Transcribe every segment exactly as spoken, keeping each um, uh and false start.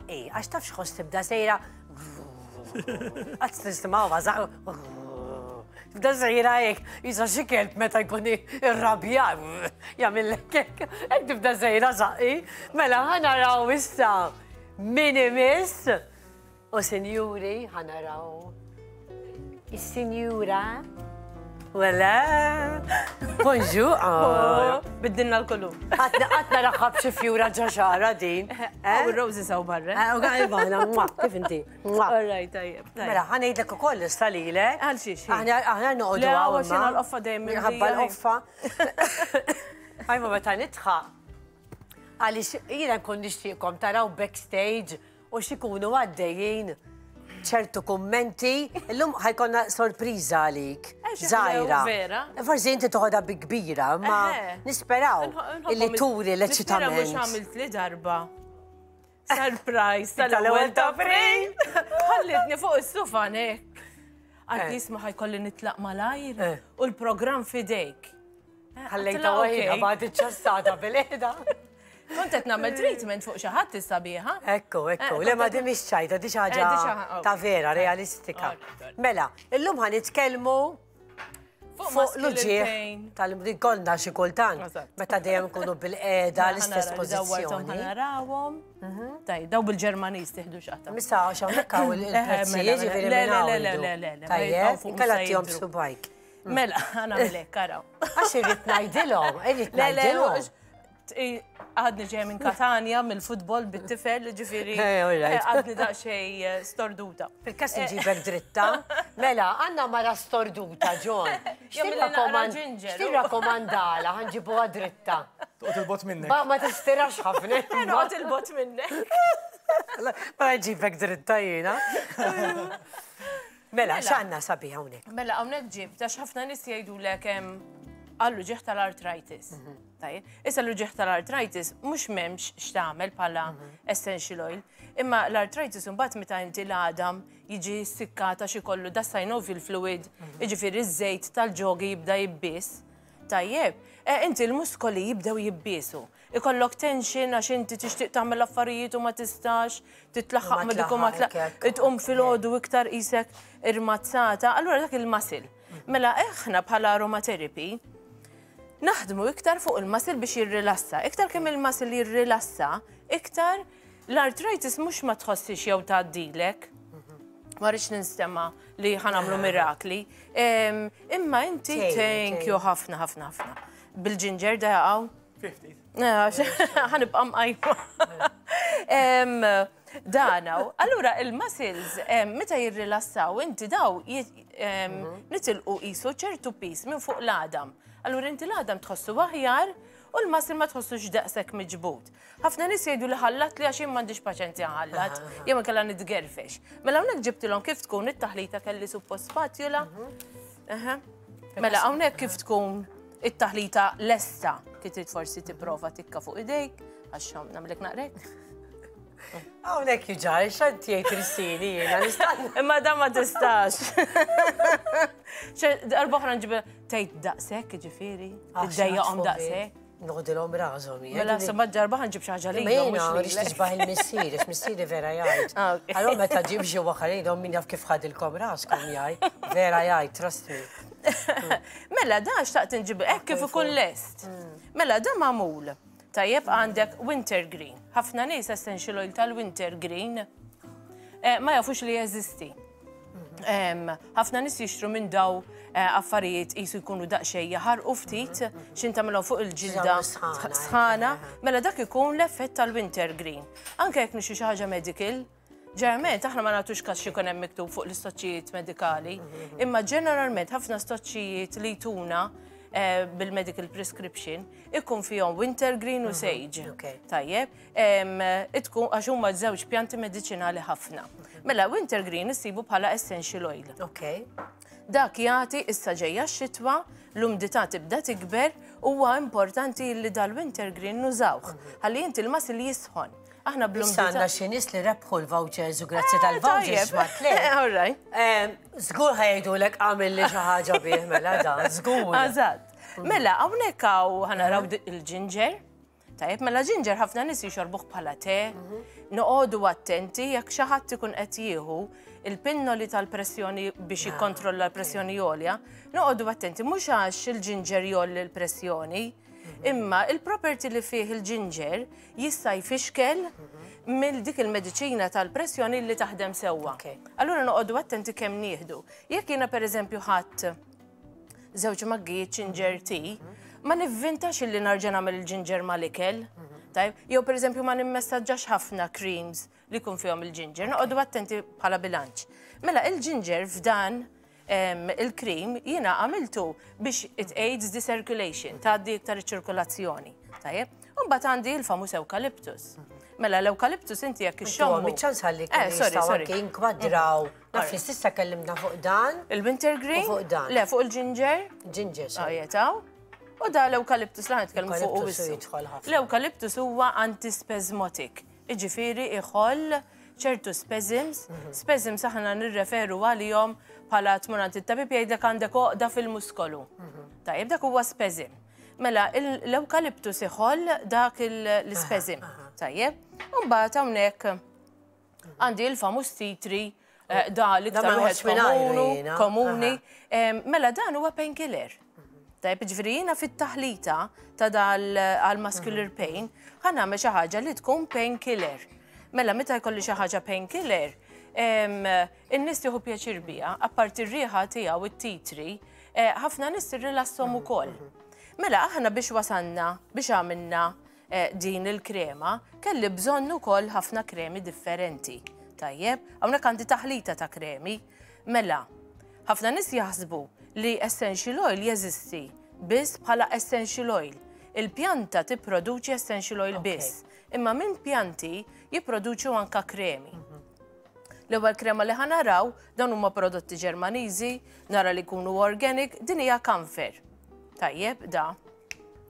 żaqqi, għax taf x'ħoss tibda sejra. Qatt tisimgħuha żaqq. Tibda sejra hekk, jisa xi kelb meta jkun irrabja jagħmillek hekk. Hekk tibda sejra żaqqi. Mela ħa naraw issa min imiss. U sinjuri, ħa naraw. Is-sinjura. Wala. Bonġu. Oh, biddilna l-kollu. Għatna għatna raħab xi fjura ġaxara din. U roses hawn barra. U għajbana, kif inti? All right, tajjeb. Mela, ħa ngħidlek ukoll issa lilek. Għal xiex. Aħna aħna noqogħdu Le, hawn. għax jiena l-qoffa dejjem Ħabba mimlija. l-qoffa. Għajma meta nidħaq. Għaliex jiena nkun nixtieqkom taraw backstage u x'ikunu għaddejjin ċertu kummenti. Illum ħa jkollna sorpriża għalik. Eh, xi Żgħira. vera. Forsi inti toħodha bi kbira, ma Eħe. nisperaw illi turi Nispera mhux l-eċitament. għamilt li darba. Surprise Tal-ewwel tal-ewwel ta' ta' April. Ħallitni fuq is-sufan hekk. Għad Eh. jisma' ħa jkolli nitlaq malajr Eh. u l-programm fidejk. Ħallejta Għedtilha, waħida "Okay." bad iċ-ċassata bil-qiegħda. Kont qed nagħmel treatment fuq xi ħadd is-sabiħa. Ekku, ekku, Eh, le ma kont di mhix ċajta, di xi Eh, di ħaġa xi ħaġa, ta' vera, realistika. Alright, alright. Mela, illum ħa nitkellmu Fuq fuq muscular l-uġieħ pain. tal-kollna xi kultant, Eżatt. meta dejjem nkunu bil-qiegħda l-istess pożizzjoni. Ħa narawhom. Taj, daw bil-Ġermaniż tieħdu x'qata. Missa għax hawnhekk hawn il-prezzijiet, mela, mela. ġifieri Le, minn le, hawn le, le, jridu. le, le, le, ma Tajjeb, jibqgħu fuq inkella mhux tihom se jidhru. subajk. Mela, ħa nagħmel araw. Għax irrid ngħidilhom, irrid Le, le, ngħidilhom. għadni ġej minn Katania, mill-futbol bit-tifel, ġifieri. Eh, all right. Għadni daqxej eh, storduta. Fil-kas nġibek dritta. Mela, għandna mara storduta, John. Jagħmel li naqra ginger. X'tirrakkomandala, ħa nġibuha dritta. Toqgħod 'il bogħod minnek. Ma ma tistirax ħafna. Noqgħod 'il bogħod minnek. Ma nġibek dritta jiena. Mela, x'għandna sabiħ hawnhekk? Mela, hawnhekk ġib, għax ħafna nies jgħidulek għall-uġigħ tal-arthritis. Tajjeb, issa l-uġigħ tal-arthritis mhux m'hemmx x'tagħmel bħala essential oil, imma l-arthritis imbagħad meta inti l-għadam jiġi sikkata xi kollu da synovial fluid, jiġifieri iż-żejt tal-ġogi jibda jibbies. Tajjeb, eh, inti l-muskoli jibdew jibbiesu. Ikollok tension għax inti tixtieq tagħmel affarijiet u ma tistax, titlaħħaq U ma ma dik u ma tlaħħaq, tlaħħaq, hekk, hekk. tqum filgħodu iktar qisek irmazzata, allura dak il-muscle. Mela eħna bħala aromatherapy naħdmu iktar fuq il-muscle biex jirrilassa. Iktar kemm il-muscle jirrilassa, iktar l-arthritis mhux ma tħossix jew tgħaddilek. Ma rridx ninstema li ħa nagħmlu mirakli. Em, Imma inti Tgħin, thank you ħafna ħafna ħafna. Bil-ġinġer da jaqgħu. Fifty. Ħa nibqa' mqajma. Em, Dana, allura il-muscles, em, meta jirrilassaw, inti daw jit- em, nitilqu qisu ċertu piż minn fuq l-għadam. Allura inti l-għadam tħossu aħjar u l-muscle ma tħossux daqshekk miġbud. Ħafna nies jgħidu li ħallat li għax jien m'għandix paċenzja ħallat, jew inkella nitgerfex. Mela hawnhekk ġibtilhom kif tkun it-taħlita kelli suppost spatula. Aha. Mela hawnhekk kif tkun it-taħlita lesta, kif trid forsi tipprova tikka fuq idejk, għax nagħmlek naqrek. Hawnhekk jiġar, x'għand jgħid Kristini jiena nista' Imma dan ma tistax. Darba oħra nġib tgħid daqshekk, ġifieri, iddejjaqhom daqshekk. Noħdilhom rashom jien. Mela somma darba ħa nġib xi ħaġa Ma lilhom jiena mhux rix lilek. tixbaħ il-missier, għax missieri vera jgħid. Ah, ok. Allora meta ġib xi waħħalin, min jaf kif ħadilkom raskom jgħid. Vera jgħid, trust me. Mela da xtaqt nġib hekk kif ikun lest. Mela da magħmul. Tajjeb għandek wintergreen. Ħafna nies essential oil tal-wintergreen eh, ma jafux li jeżisti. Em, Ħafna nies jixtru minn daw eh, affarijiet qisu jkunu daqsxejn jaħarqu ftit xin tagħmilhom fuq il-ġilda Jagħmlu sħana, sħana, mela dak ikun l-effett tal-wintergreen. Anke jekk nixtru xi ħaġa medical, ġeneralment aħna ma nagħtux każ xi jkun hemm miktub fuq l-istoċċijiet medikali, imma ġeneralment ħafna stoċċijiet li jtuna eh, bil-medical prescription ikun fihom wintergreen u sage. Ok. Tajjeb, em, itkun għax huma żewġ pjanti mediċinali ħafna. Mela wintergreen issibu bħala essential oil. Ok. Dak jagħti issa ġejja x-xitwa, l-umdità tibda tikber, huwa importanti li dal-wintergreen nużawh. Ħalli inti l-muscle jisħon. Aħna Issa bl-umdità. għandna xi nies li rebħu l-vouchers u grazzi tal-vouchers Tajjeb. ma tliet. All right. Em, Żgur ħa jgħidulek għamil li xi ħaġa bih mela da, żgur. Eżatt. Mela, hawnhekk hawn ħa naraw di- il-ginger. Tajjeb, mela ginger ħafna nies jixorbuh bħala te, noqogħdu attenti jekk xi ħadd ikun qed jieħu il-pinnoli tal-pressjoni biex jikkontrolla l-pressjoni għolja, noqogħdu attenti mhux għax il-ginger jgħolli l-pressjoni, imma il-property li fih il-ginger jista' jfixkel mill dik il-mediċina tal-pressjoni li taħdem sewwa. Ok. Allura noqogħdu attenti kemm nieħdu. Jekk jiena pereżempju ħadd żewġ maggijiet ginger tea, ma nivvintax illi nerġa' nagħmel il-ginger mal-ikel. Tajb, jew pereżempju ma nimmessaġġax ħafna creams li jkun fihom il-ginger, noqogħdu attenti bħala bilanċ. Mela il-ginger f'dan em, il-cream jiena għamiltu biex it aids the circulation, tgħaddi iktar iċ-ċirkolazzjoni. Tajjeb, u mbagħad għandi il-famuż eucalyptus. Mela l-eucalyptus inti jekk ixxommu. Miċ-ċans ħalli Eh, sorry, sorry. anke jinkwadraw. Naf li s'issa kellimna fuq dan, Il-wintergreen? U fuq dan. Le, fuq il-ginger. Ginger. sorry. Jetaw. U da l-eucalyptus la nitkellmu fuq u Eucalyptus wissu. jidħol ħafna. L-eucalyptus huwa antispasmodic. Iġifieri iħoll ċertu spasms. Spasms aħna nirreferu għalihom bħala tmur għand it-tabib jgħidlek għandek għoqda fil-muskolu. Tajjeb, dak huwa spasm. Mela, il- l-eucalyptus iħoll dak il- l-spasm. Tajjeb, u mbagħad hawnhekk għandi il-famuż tea tree, eh, da l-iktar Da ma wieħed noqgħodx mingħajru komunu, jiena. komuni. Em, Mela dan huwa painkiller. Tajb, ġifieri jiena fit-taħlita ta' dal għal muscular pain, ħa nagħmel xi ħaġa li tkun painkiller. Mela meta jkolli xi ħaġa painkiller, em, in-nies jieħu pjaċir biha, apparti r-riħa tiegħu it-tea tree, eh, ħafna nies irrilasshom ukoll. Mela aħna biex wasanna, biex għamilna eh, din il-krema, kelli bżonn ukoll ħafna kremi differenti. Tajjeb, hawnhekk għandi taħlita ta' kremi. Mela, ħafna nies jaħsbu li essential oil jeżisti biss bħala essential oil. Il-pjanta tipproduċi essential oil biss, imma minn pjanti jipproduċu anka kremi. L-ewwel krema li ħa naraw dawn huma prodotti Ġermaniżi, nara li jkunu organic, din hija camphor. Tajjeb, da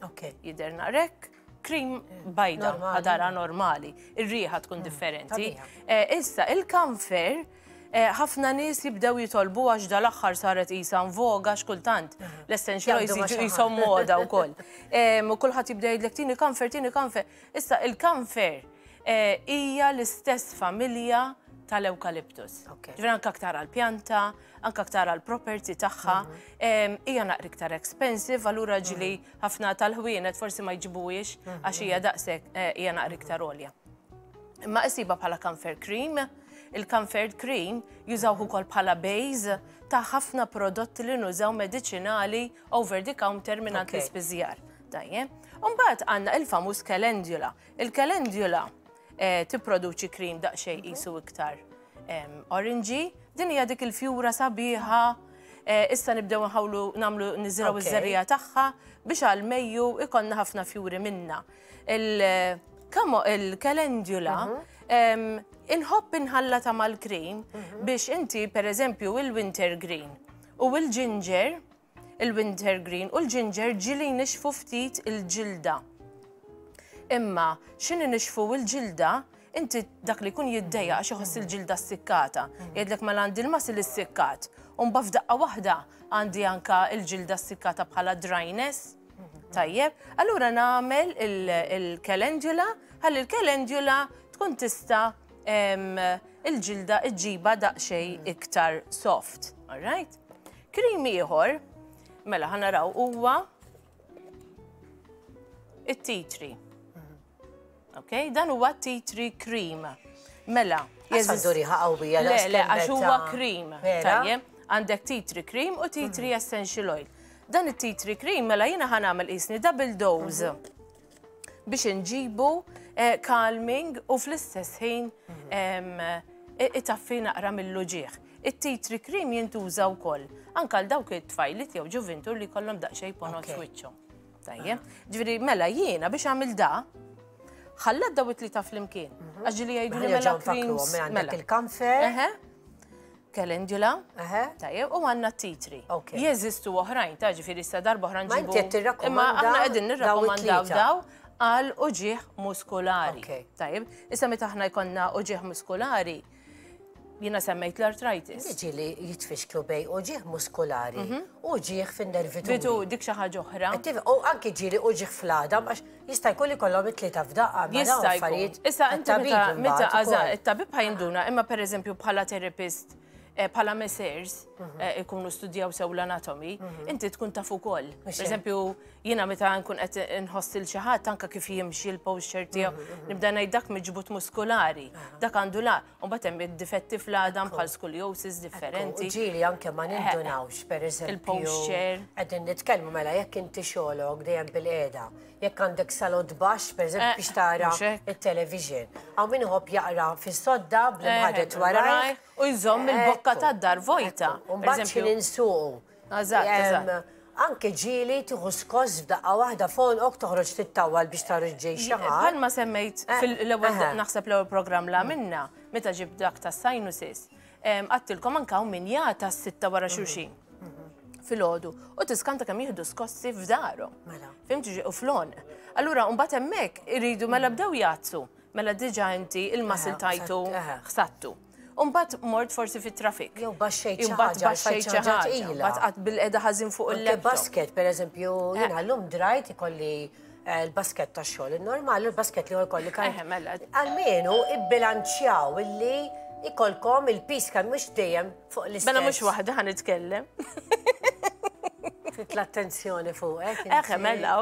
Ok. jidher naqrek, cream bajda, Normali. ħadara normali, ir-riħa tkun differenti. Tabiħa. Eh, Issa, il-camphor, eh, ħafna nies jibdew jitolbu għax dal-aħħar saret qisha voga xkultant. L-essential oils Jgħaddu ma' jiġu xi ħadd. qishom moda wkoll. Em, U kulħadd jibda jgħidlek tini camphor, tini camphor. Issa, il-camphor eh, hija l-istess familja tal-eukaliptus. Ok. Ġifieri anke aktar għal-pjanta, anke aktar għal-property tagħha, em, hija naqra iktar expensive, allura ġili ħafna tal-ħwienet forsi ma jġibuhiex għax hija daqshekk eh, hija naqra iktar għolja. Imma isiba bħala camphor cream, il-camphor cream jużawh ukoll bħala base ta' ħafna prodotti li nużaw medicinali over the counter minn Ok. l-ispiżjar. Tajjeb. Umbagħad għandna il-famuż calendula. Il-calendula eh, tipproduċi cream daqsxejn qisu iktar em, orangey. Din hija dik il-fjura sabiħa. Eh, issa nibdew nħawlu nagħmlu niżraw Ok. iż-żerriegħa tagħha biex għal Mejju ikollna ħafna fjuri minna. Il- kamo il-calendula em, inħobb inħallata mal-cream biex inti per eżempju il-wintergreen u il-ginger, il-wintergreen u l-ginger ġili nixfu ftit il-ġilda. Imma x'inhi nixfu il-ġilda, inti dak li jkun jiddejja għax iħoss il-ġilda ssikkata. Jgħidlek mela għandi l-muscle issikkat. U mbagħad f'daqqa waħda għandi anka il-ġilda ssikkata bħala dryness. Tajjeb, allura nagħmel il-calendula, ħalli il-calendula tkun tista' em, il-ġilda iġġiba daqsxejn iktar soft. All right? Cream ieħor, mela ħa naraw huwa it-tea tree. Ok, dan huwa tea tree cream. Mela, Għandu riħa qawwija. Le, le, għax huwa cream. Vera? Tajjeb, għandek tea tree cream u tea tree essential oil. Dan it-tea tree cream, mela jiena ħa nagħmel qisni double dose biex nġibu eh, calming u fl-istess ħin em, i- itaffi naqra mill-uġigħ. It-tea tree cream jintuża wkoll anke għal dawk it-tfajlit jew ġuvintur li kollhom daqsxejn ponot Ok. f'wiċċhom. Tajjeb, ġifieri mela jiena biex għamil da, ħallat daw it-tlieta flimkien. Għax ġieli jgħidu li mela creams. Għandek Mela. il-camphor. Eħe. Calendula. Eħe. Tajjeb, u għandna tea tree. Ok. Jeżistu oħrajn, ta' ġifieri issa darba oħra Ma nġibu. inti qed tirrakkomanda Imma aħna qegħdin daw nirrakkomandaw it-tlieta. daw għal uġigħ muskolari. Ok. Tajjeb, issa meta aħna jkollna uġigħ muskolari, Jiena semmejt l-arthritis. Ġieli jitfixklu bejn uġigħ muskolari u uġigħ fin-nervituri. Bitu dik xi ħaġa oħra. U anki ġieli uġigħ fl-għadam, għax jista' jkun li kollhom it-tlieta f'daqqa. Jista' jkun. Issa inti meta it-tabib ħa jinduna, imma pereżempju bħala therapist, bħala masseurs, ikunu studjaw sew l-anatomy, inti tkun taf ukoll. Pereżempju, jiena meta nkun qed inħoss il xi ħadd anke kif jimxi l-posture tiegħu, nibda ngħid dak miġbut muskolari, dak għandu la, u mbagħad hemm id-difetti fl-għadam bħal scoliosis differenti. Ġieli anke ma nindunawx, pereżempju. Il-posture. Qegħdin nitkellmu mela jekk inti xogħlok dejjem bil-qiegħda, jekk għandek salott baxx, pereżempju biex tara it-television. Hawn min iħobb jaqra fis-sodda bl-imħadet warajh u jżomm il-bokka tad-dar vojta. U mbagħad xi ninsuqu. Eżatt. Anke ġieli tieħu skoss f'daqqa waħda fonqok toħroġ tittawwal biex tara ġej xi ħadd. Bħalma semmejt fil-ewwel naħseb l-ewwel programm la minna meta ġib dak tas-sinuses. Għattilkom anke hawn min jagħta s-sitta wara xulxin filgħodu u tiskanta kemm jieħdu skossi f'darhom. Fimti u flon. Allura mbagħad hemmhekk iridu mela bdew jgħazzu, mela diġà inti il-muscle tajtu ħsattu. Umbat mort forsi fit-trafik. Jew baxxejt xi ħaġa, baxxejt xi ħaġa. Mbagħad qatt bil-qeda ħażin fuq il-laptop. Basket, pereżempju, jiena llum drajt ikolli l-basket tax-xogħol il-normal, il-basket li jkolli kan. Almenu ibbilanċjaw illi ikolkom il-pis kemm mhux dejjem fuq l-istess. Mela mhux waħda ħa nitkellem. Fit l-attenzjoni fuqek. Eħe, mela.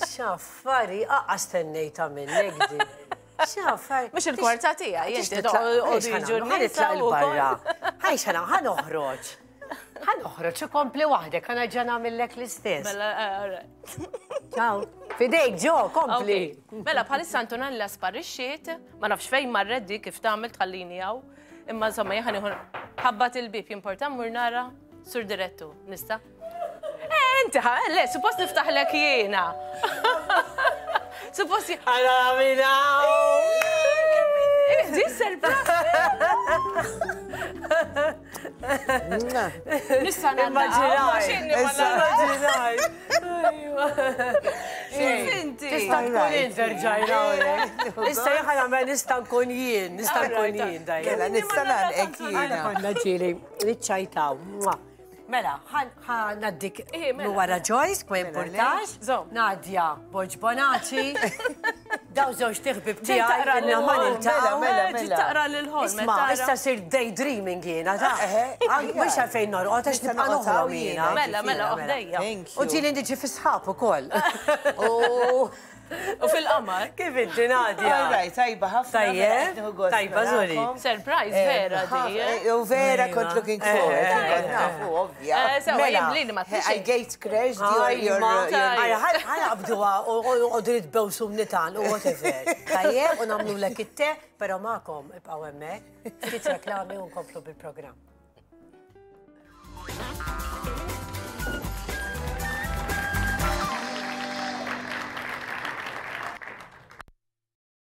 X'affari aqqa stennejta minnek di. X'affari. Mhux il-kwarta tiegħi, inti toqgħodu jiġu nitlaq il-barra. Ħaj xana, ħa noħroġ. Ħa noħroġ u kompli waħdek, ħa nerġa' nagħmillek l-istess. Mela, all right. Ciao. Fidejk ġo, kompli. Mela, bħalissa Antonella sparixxiet, ma nafx fejn marret di kif tagħmel tħallini hawn. Imma insomma jien ħa nieħu ħabbat il-bib jimporta mmur nara sur direttu. Nista'? Eh, inti ħa, le, suppost niftaħlek jiena. Suppost Għara għamina! Di surprise! Nista' Immaġinaj! Immaġinaj! Inti! Tista' tkun jien terġajna Issa jien ħa nista' nkun jien, nista' nkun jien dajja. Mela nista' nagħlqek jiena. Konna ġieli niċċajtaw. Mela, ħa naddik wara Joyce, kwa importax. Nadia Borg Bonaci. Daw żewġ tiħbib tiegħi inna ma niltaqgħu. Ġiet taqra lil-ħolm. Isma', issa sir daydreaming jiena ta' mhux għalfejn norqod għax nibqa' noħlom jiena. Mela, mela, oħdejja. U ġieli niġi fi sħab ukoll. U fil-qamar. Kif inti Nadia? All right, tajba ħafna. Tajjeb, tajba żuri. Surprise vera di. U vera kont looking forward. Kont nafu, ovvja. Sewa, jimlini ma I gate crashed your... your Ħa naqbduha u qogħdu nitbewsu mnitan u whatever. Tajjeb, u nagħmlulek it-te, però magħkom ibqgħu hemmhekk. Ftit reklami u nkomplu bil-programm.